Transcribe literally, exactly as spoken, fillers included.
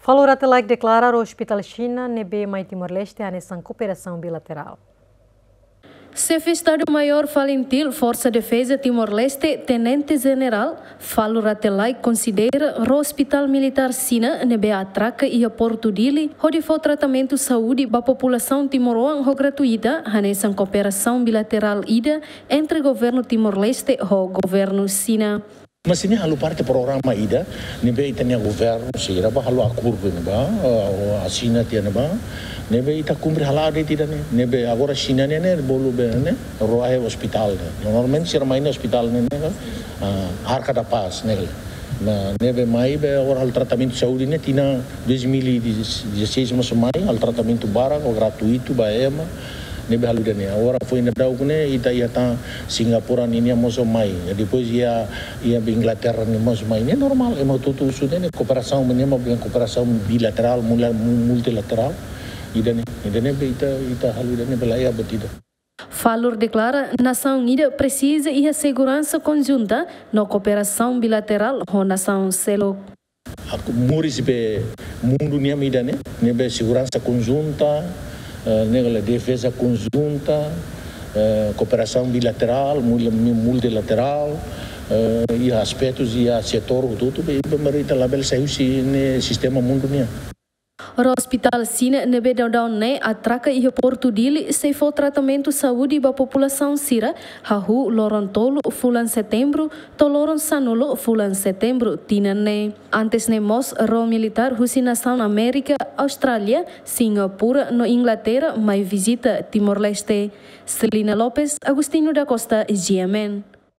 Falur Rate Laek deklara ró ospitál Xina ne'ebé mai Timor-Leste hanesan kooperasaun bilaterál. Xefe Estadu-Maiór Falintil Forsa Defeza Timor-Leste, Tenente Jenerál Falur Rate Laek konsidera ró ospitál militár Xina ne'ebé atraka iha Portu Dili hodi fó tratamentu saúde ba populasaun timoroan ho gratuita hanesan kooperasaun bilaterál ida entre governu Timor-Leste ho governu Xina. Mas ne'e halo parte programa ida ne'ebé ita-nia governu sira ba halo akordu ne'ebá, ah, asina tiha ne'ebá, ne'ebé ita kumpre hala'o de'it ida-ne'e, ne'ebé agora Xina ne'e, ne'e bolu be ne'e, ró iha ospitál ne'e. Normalmente sira mai iha ospitál ne'e, ne'e, ah, Arca da Paz ne'e. Nah, ne'ebé mai be agora halo tratamentu saúde ne'e, tinan dois mil e dezasseis mós mai, halo tratamentu barak, gratuitu ba ema, ne'ebé halo ida-ne'e. Agora foin daudauk ne'e, ita iha tan Singapura nian mós mai. Ya, depois iha, iha Inglaterra nian mós mai. Ne'e normál, ema hotu-hotu husu ne'e, ne'e kooperasaun, ne'e mak kooperasaun bilaterál, mula-, mu-, multilaterál. Ida-ne'e, ida-ne'e be ita, ita halo ida-ne'e be la iha buat ida. Falur deklara nasaun ida presiza iha seguransa konjunta no kooperasaun bilaterál ho nasaun seluk. Aku moris be mundu nian ida-ne'e, ne'ebé seguransa konjunta, eh, ne'e kala defeza konjunta, eh, kooperasaun bilaterál, mul-, mi-, multilaterál, eh, iha aspetus, iha setór hotu-hotu be, be mari ita labele sai husi ne'e sistema mundu nian. Ró ospitál Xina ne'ebé daudaun ne'e atraka iha Portu Dili sei fó tratamentu saúde ba populasaun sira hahú loron tolu fulan Setembru to'o loron sanulu fulan Setembru tinan ne'e. Antes ne'e mós ró militár husi nasaun Amérika, Austrália, Singapura no Inglaterra mai vizita Timor-Leste. Celina Lopes, Agostinho da Costa, G M N.